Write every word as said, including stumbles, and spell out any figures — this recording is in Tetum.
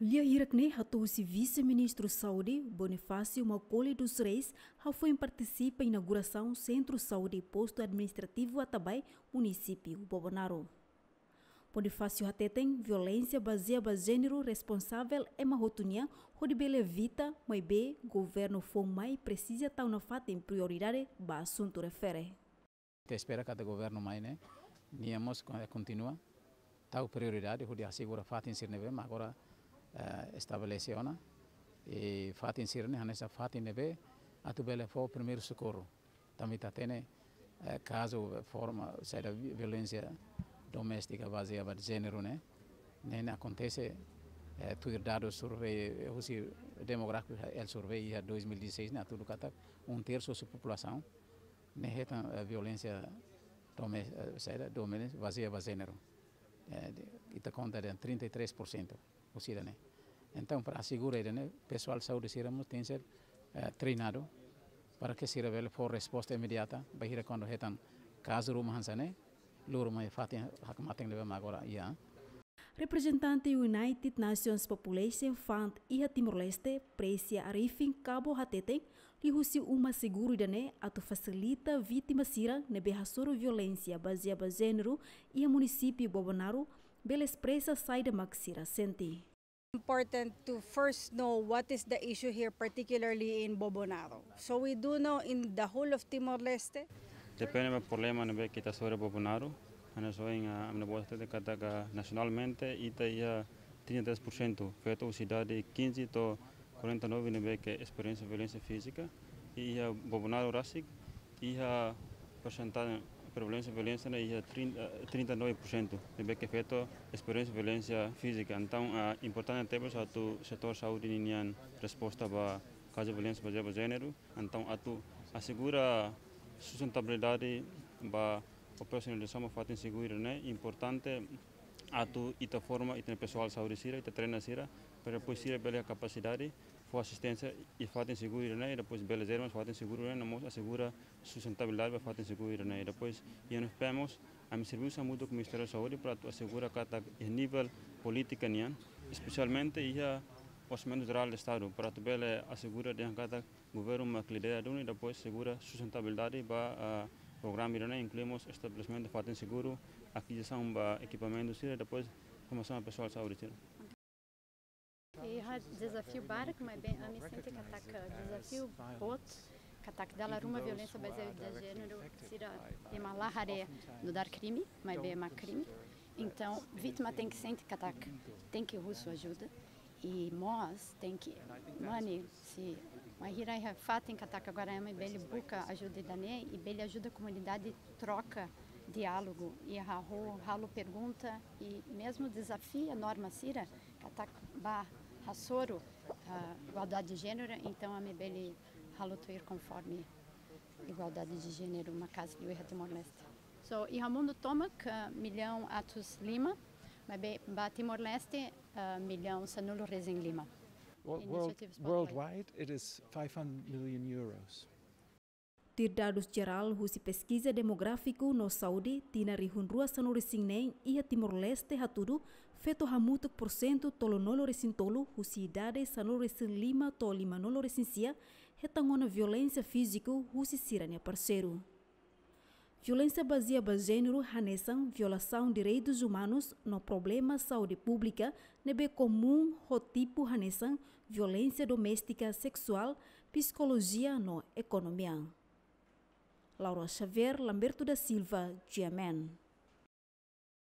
Lia hirak ne'e hato'o husi Vise-Ministru Saúde, Bonifácio Macaulay dos Reis, hafoin partisipa inaugurasaun Sentru Saúde Postu Administrativu Atabae, Munisípiu Bobonaro. Bonifácio hateten, violénsia bazeia ba jéneru responsavel ema hotu nian hodi bele evita, maibé governu foun mai presiza tau nafatin prioridade ba asuntu refere. Ita espera katak governu mai ne'e, nia mós kon-, kontinua tau prioridade hodi asegura fatin sira ne'ebé mak agora, eh, estabelese ona. I fatin sira-ne'e hanesan fatin ne'ebé atu bele fó primeiru sokorru. Tanba ita hatene, eh, kazu forma saida vi-, violénsia doméstika bazeia ba jéneru ne'e, ne'e, ne'e akontese, eh, tuir dadus survey, eh, husi Demográfiku El Survey iha dois mil e dezasseis ne'e hatudu katak um terço husi populasaun ne'e hetan, eh, violénsia dome-, eh, saida, dome-, bazeia ba jéneru. Eh, de, ita konta dehan trinta e três por cento husi ida-ne'e. Entaun, para asegura ida-ne'e, pesoál saúde sira mós tenke ser, eh, treinadu para ke sira bele fó resposta imediata, bainhira kuandu hetan kazu ruma hanesan ne'e, loro mai fatin hakmatek ne'ebé mak agora iha. Reprezentante United Nations Population Fund iha Timor-Leste, Precia Arifin Cabo hateten, liuhusi uma seguru ida-ne'e atu fasilita vítima sira ne'ebé hasoru violénsia bazeia ba jéneru iha Munisípiu Bobonaro, bele espresa saida mak sira sente. Important to first know what is the issue here, particularly in Bobonaro. So we do know in the whole of Timor-Leste. Depende ba problema ne'ebé ke ita hasoru Bobonaro. Hanesan ohin, ah, ami-nia boot hatete katak nasionalmente ita iha trinta e três por cento feto husi idade quinze to'o quarenta e nove ne'ebé ke esperiénsia violénsia fízika. I iha Bobonaro rasik, iha persentajen prevalénsia violénsia ne'e iha trinta, eh, trinta e nove por cento ne'ebé ke feto esperiénsia violénsia fízika. Entaun, ah, importante tebes atu setór saúde ninian resposta ba kazu violénsia bazeia ba jéneru. Entaun, atu asegura sustentabilidade ba operasionalizasaun ba fatin seguru ne'e, importante atu ita forma ita-nia pesoál saúde sira, ita treina sira, para depois sira bele kapasidade fó asisténsia iha fatin seguru ne'e, i depois bele jerma fatin seguru ne'e, no mós asegura sustentabilidade ba fatin seguru ne'e. I depois, iha N F P mós, ami servisu hamutuk ho Ministériu Saúde para atu asegura katak iha nivel polítika nian, espesialmente iha Orsamentu Jerál Estadu, para atu bele asegura dehan katak governu mak lidera duni, i depois asegura sustentabilidade ba, ah, programa ida-ne'e, inklui mós estabelesimentu fatin seguru, akizisaun ba ekipamentu sira, i depois formasaun ba pesoál saúde sira. Iha dezafiu barak, maibé ami sente katak dezafiu boot, katak dala ruma violénsia bazeia ba jéneru sira ema la haree nu'udar krime, maibé mak krime. Entaun, vítima tenke sente katak tenke husu ajuda. I mós tenke mane, se bainhira iha fatin katak agora ema bele buka ajuda ida-ne'e i bele ajuda komunidade troka diálogu, i hahú halo pergunta, i mezmu dezafia norma sira katak ba hasoru, ah, igualdade de jéneru, entaun ami bele halo tuir konforme igualdade de jéneru maka'as liu iha Timor-Leste. So, iha mundu tomak, ah, millaun atus lima, maibé ba Timor-Leste, ah, millaun sanulu-resin-lima. Wo-, world-, initiatives worldwide, it is five hundred million euros. Tuir dadus jerál husi Peskiza Demográfiku no Saúde, tinan rihun rua sanulu-resin-neen iha Timor-Leste hatudu, feto hamutuk porsentu tolunulu-resin-tolu husi idade sanulu-resin-lima to'o limanulu-resin-sia hetan ona violénsia fíziku husi sira-nia parseiru. Violénsia bazeia ba jéneru hanesan violasaun direitus umanus no problema saúde públika ne'ebé komún ho tipu hanesan violénsia doméstika, seksuál, psikolojia no ekonomia. Laura Xavier, Lamberto da Silva, G M N.